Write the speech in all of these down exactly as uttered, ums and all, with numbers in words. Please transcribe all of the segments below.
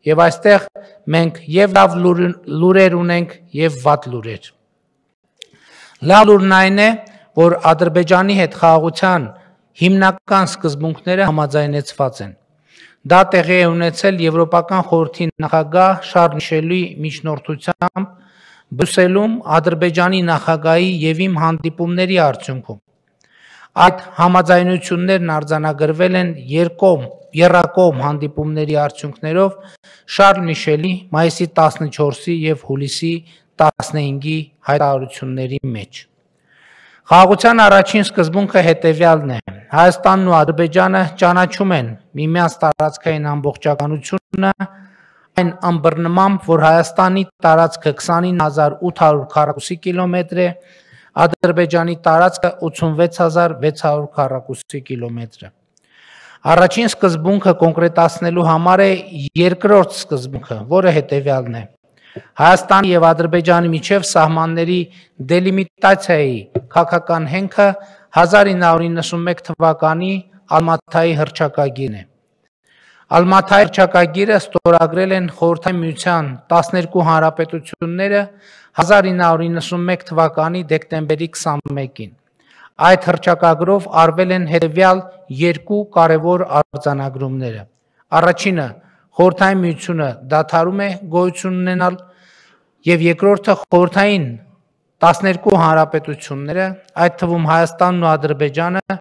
Եվ այստեղ մենք եւ լավ լուրեր ունենք եւ վատ լուրեր։ Լավ լուրն այն է, որ Ադրբեջանի հետ խաղաղության հիմնական սկզբունքները համաձայնեցված են։ Դա տեղի է ունեցել Եվրոպական խորհրդի նախագահ Շարլ Միշելի միջնորդությամբ Բրյուսելում Ադրբեջանի նախագահի եւ իմ հանդիպումների արդյունքում։ Այդ համաձայնություններն արձանագրվել են երկկողմ եռակողմ հանդիպումների արդյունքներով Շարլ Միշելի մայիսի տասնչորսի եւ հուլիսի տասնհինգի հայտարարությունների մեջ։ Խաղաղության առաջին սկզբունքը հետևյալն է. Հայաստանն ու Ադրբեջանը ճանաչում են միմյանց տարածքային ամբողջականությունը այն ըմբռնմամբ, որ Հայաստանի տարածքը քսանինը հազար ութ հարյուր քառակուսի կիլոմետր է, Ադրբեջանի տարածքը ութսունվեց հազար վեց հարյուր քառակուսի կիլոմետր է։ Առաջին սկզբունքը կոնկրետացնելու համար է երկրորդ սկզբունքը, որը հետևյալն է. Հայաստանի եւ Ադրբեջանի միջև սահմանների դելիմիտացիայի քաղաքական հենքը հազար ինը հարյուր իննսունմեկ թվականի Ալմաթայի հռչակագիրն է։ Ալմաթայի հռչակագիրը ստորագրել են Խորհրդային Միության տասներկու հանրապետությունները հազար ինը հարյուր իննսունմեկ թվականի դեկտեմբերի քսանմեկին։ Այդ հռչակագրով արվել են հետևյալ երկու կարևոր արձանագրումները։ Առաջինը Խորհրդային Միությունը դադարում է գոյություն ունենալ եւ երկրորդը խորհրդային տասներկու հանրապետությունները, այդ թվում Հայաստանն ու Ադրբեջանը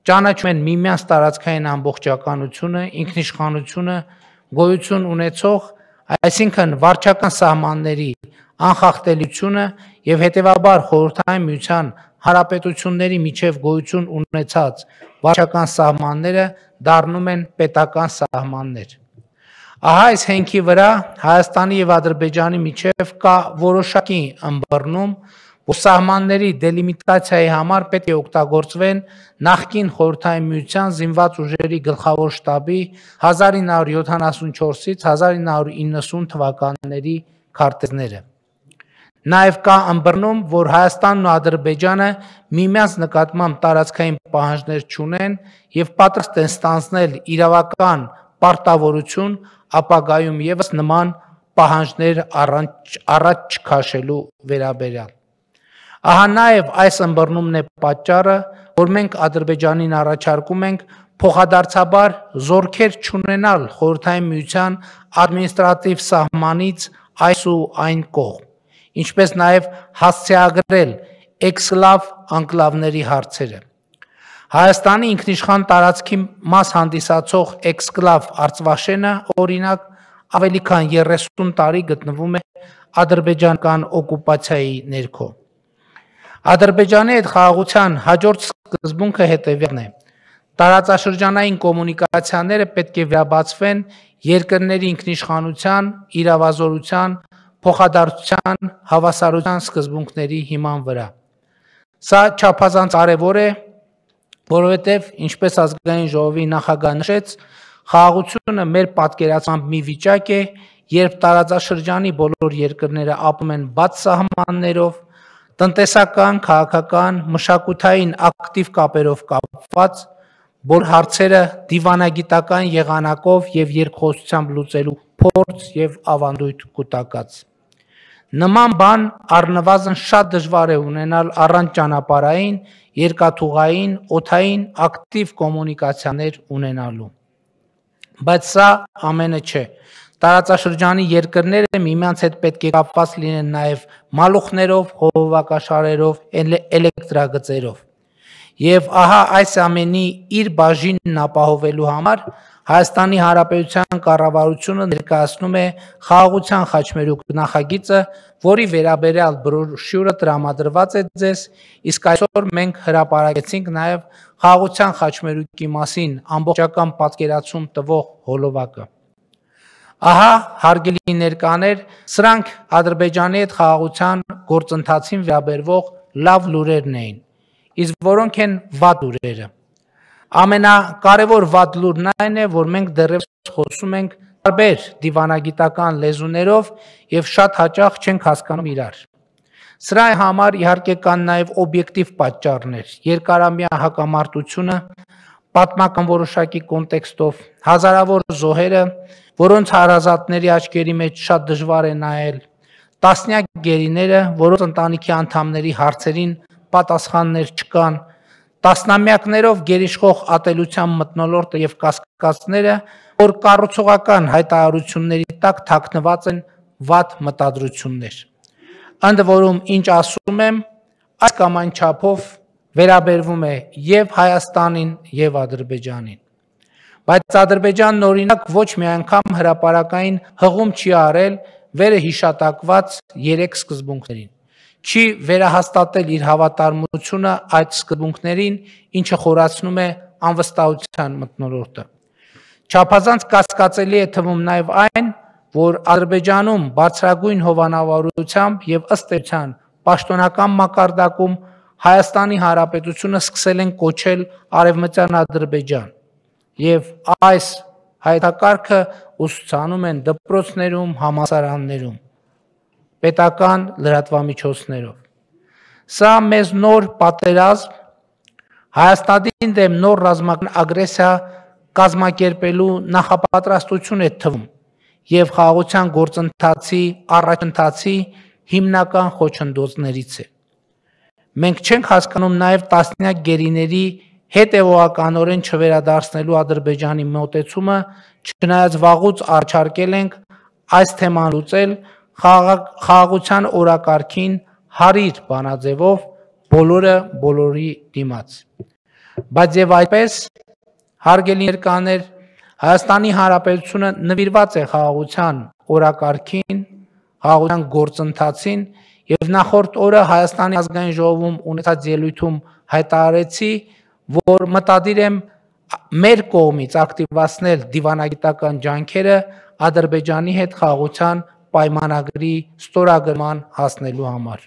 ճանաչում են միմյանց տարածքային ամբողջականությունը, ինքնիշխանությունը, գոյություն ունեցող, այսինքն վարչական սահմանների անխախտելիությունը եւ հետեւաբար Խորհրդային Միության հանրապետությունների միջև գոյություն ունեցած վարչական սահմանները դառնում են պետական սահմաններ։ Ահա այս հենքի վրա Հայաստանի եւ Ադրբեջանի միջև կա որոշակի ըմբռնում, որ սահմանների դելիմիտացիայի համար պետք է օգտագործվեն նախկին Խորհրդային Միության զինված ուժերի գլխավոր շտաբի հազար ինը հարյուր յոթանասունչորսից հազար ինը հարյուր իննսուն թվականների քարտեզները։ Նաև կա ըմբռնում, որ Հայաստանն ու Ադրբեջանը միմյանց նկատմամբ տարածքային պահանջներ չունեն եւ պատրաստ են ստանձնել իրավական պարտավորություն ապագայում եւս նման պահանջներ առաջ, առաջ չքաշելու վերաբերյալ։ Ահա նաև այս ըմբռնումն է պատճառը, որ մենք Ադրբեջանին առաջարկում ենք փոխադարձաբար զորքեր չունենալ Խորհրդային Միության ադմինիստրատիվ սահմանից այս ու այն կողմ, ինչպես նաև հասցեագրել էքսկլավ անկլավների հարցերը։ Հայաստանի ինքնիշխան տարածքի մաս հանդիսացող էքսկլավ Արցվաշենը, օրինակ, ավելի քան երեսուն տարի գտնվում է ադրբեջանական օկուպացիայի ներքո։ Ադրբեջանի հետ խաղաղության հաջորդ սկզբունքը հետևյալն է. տարածաշրջանային կոմունիկացիաները պետք է վերաբացվեն երկրների ինքնիշխանության, իրավազորության, փոխադարձության, հավասարության սկզբունքների հիման վրա։ Սա չափազանց կարևոր է, որովհետև, ինչպես ազգային ժողովի նախագահը նշեց, խաղաղությունը մեր պատկերացմամբ մի վիճակ է, երբ տարածաշրջանի բոլոր երկրները ապրում են բաց սահմաններով, տնտեսական, քաղաքական, մշակութային ակտիվ կապերով կապված, որ հարցերը դիվանագիտական եղանակով եւ երկխոսությամբ լուծելու փորձ եւ ավանդույթ կուտակած։ Նման բան առնվազն շատ դժվար է ունենալ առանց ճանապարհային, երկաթուղային, օդային ակտիվ կոմունիկացիաներ ունենալու։ Բայց սա ամենը չէ։ Տարածաշրջանի երկրները միմյանց հետ պետք է կապված լինեն նաև մալուխներով, խողովակաշարերով, էլեկտրագծերով։ Եվ ահա այս ամենի իր բաժինն ապահովելու համար Հայաստանի Հանրապետության կառավարությունը ներկայացնում է խաղաղության խաչմերուկ նախագիծը, որի վերաբերյալ բրոշյուրը տրամադրված է ձեզ, իսկ այսօր մենք հրապարակեցինք նաև խաղաղության խաչմերուկի մասին ամբողջական պատկերացում տվող հոլովակը։ Ահա, հարգելի ներկաներ, սրանք Ադրբեջանի հետ խաղաղության գործընթացին վերաբերվող լավ լուրերն էին, իսկ որոնք են վատ լուրերը։ Ամենակարևոր վատ լուրն այն է, որ մենք դեռևս խոսում ենք տարբեր դիվանագիտական լեզուներով եւ շատ հաճախ չենք հասկանում իրար։ Սրա համար իհարկե կան նաեւ օբյեկտիվ պատճառներ՝ երկարամյա հակամարտությունը, պատմական որոշակի կոնտեքստով, հազարավոր զոհերը, որոնց հարազատների աչքերի մեջ շատ դժվար է նայել, տասնյակ գերիները, որոնց ընտանիքի անդամների հարցերին պատասխաններ չկան, տասնամյակներով գերիշխող ատելության մթնոլորտը եւ կասկածները, որ կառուցողական հայտարարությունների տակ թաքնված են վատ մտադրություններ։ Ընդ որում, ինչ ասում եմ, այս կամ այն չափով վերաբերվում է եւ Հայաստանին եւ Ադրբեջանին։ Բայց Ադրբեջանն օրինակ ոչ մի անգամ հրապարակային հղում չի արել վերը հիշատակված երեք սկզբունքներին։ Չի վերահաստատել իր հավատարմությունը այդ սկզբունքներին, ինչը խորացնում է անվստահության մթնոլորտը։ Չափազանց կասկածելի է թվում նաև այն, որ Ադրբեջանում բարձրագույն հովանավորությամբ եւ ըստ էության պաշտոնական մակարդակում Հայաստանի Հանրապետությունը սկսել են կոչել Արևմտյան Ադրբեջան եւ այս հայտակարգը ուսուցանում են դպրոցներում, համալսարաններում, պետական լրատվամիջոցներով։ Սա մեզ նոր պատերազմ, Հայաստանի դեմ նոր ռազմական ագրեսիա կազմակերպելու նախապատրաստություն է թվում եւ խաղաղության գործընթացի առաջընթացի հիմնական խոչընդոտներից է։ Մենք չենք հասկանում նաեւ տասնյակ գերիների հետևողականորեն չվերադարձնելու Ադրբեջանի մոտեցումը, չնայած վաղուց առաջարկել ենք այս թեման լուծել խաղաղության օրակարգին հարիր բանաձևով բոլորը բոլորի դիմաց։ Բայց եւ այդպես, հարգելի ներկաներ, Հայաստանի Հանրապետությունը նվիրված է խաղաղության օրակարգին, խաղաղության գործընթացին եւ նախորդ օրը Հայաստանի ազգային ժողովում ունեցած ելույթում հայտարարեցի, որ մտադիր եմ մեր կողմից ակտիվացնել դիվանագիտական ջանքերը Ադրբեջանի հետ խաղաղության պայմանագրի ստորագրման հասնելու համար։